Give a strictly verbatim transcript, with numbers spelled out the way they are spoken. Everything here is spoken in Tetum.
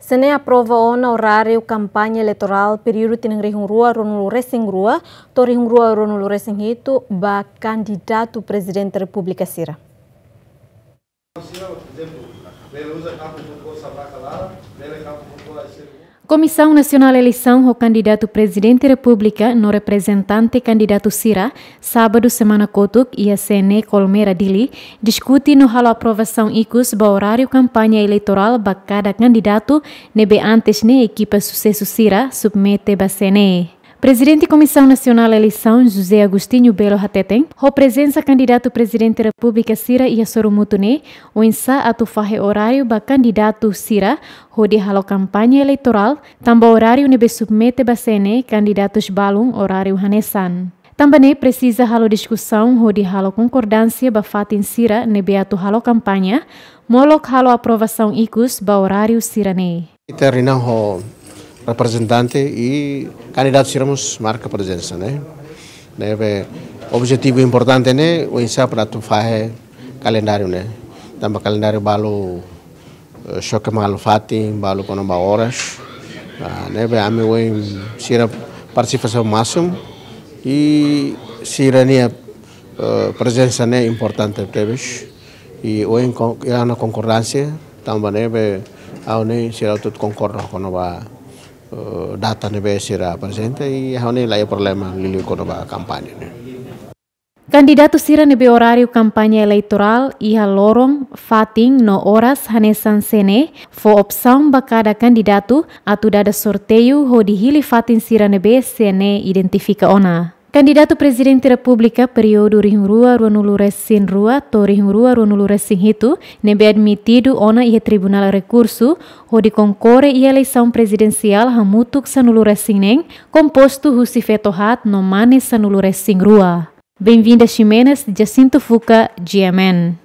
CNE aprova ona oráriu kampaña eleitorál períodu tinan rihun rua ruanulu resin rua to'o rihun rua ruanulu resin hitu ba kandidatu Prezidente Repúblika sira. Komisaun Nasionál Eleisaun ho kandidatu Prezidente Repúblika no reprezentante kandidatu sira, sábadu semana kotuk, iha CNE Colmera Dili, diskute no halo aprovasaun ikus ba oráriu kampaña eleitorál ba kada kandidatu ne'ebé antes ne'e ekipa susesu sira submete ba CNE. Prezidente Komisaun Nasionál Eleisaun, José Agostinho Belo hateten, ho prezensa kandidatu Prezidente Repúblika sira iha sorumutu ne'e, oinsá atu fahe oráriu ba kandidatu sira hodi halo kampaña eleitorál, tanba oráriu ne'ebé submete ba CNE kandidatus balun oráriu hanesan. Tanba ne'e presiza halo diskusaun hodi halo konkordánsia ba fatin sira ne'ebé atu halo kampaña, molok halo aprovasaun ikus ba oráriu sira-ne'e. Ita reúne ho reprezentante i kandidatu sira mós marka prezensa, ne'e. Ne'ebé objetivu importante ne'e, oinsá para atu fahe kalendáriu ne'e. Tanba kalendáriu balu, eh, xoke malu fatin, balu kona-ba oras. Ah, ne'ebé ami ohin sira partisipasaun másimu i sira-nia, eh, prezensa ne'e importante tebes. I ohin kon-, iha ona konkordánsia, tanba ne'ebé ha'u-nia sira hotu konkorda kona-ba, eh, data ne'ebé sira aprezenta i ha'u-nia la iha problema liuliu kona-ba kampaña ne'e. Kandidatu sira ne'ebé oráriu kampaña eleitorál iha loron, fatin no oras hanesan CNE fó opsaun ba kada kandidatu atu dada sorteiu hodi hili fatin sira ne'ebé CNE identifika ona. Kandidatu Prezidente Repúblika períodu rihun rua ruanulu resin rua to'o rihun rua ruanulu resin hitu ne'ebé admitidu ona iha Tribunál Rekursu hodi konkorre iha eleisaun prezidensiál hamutuk sanulu resin neen, kompostu husi feto haat no mane sanulu resin rua. Benvinda Ximenes, Jacinto Fuca, G M N.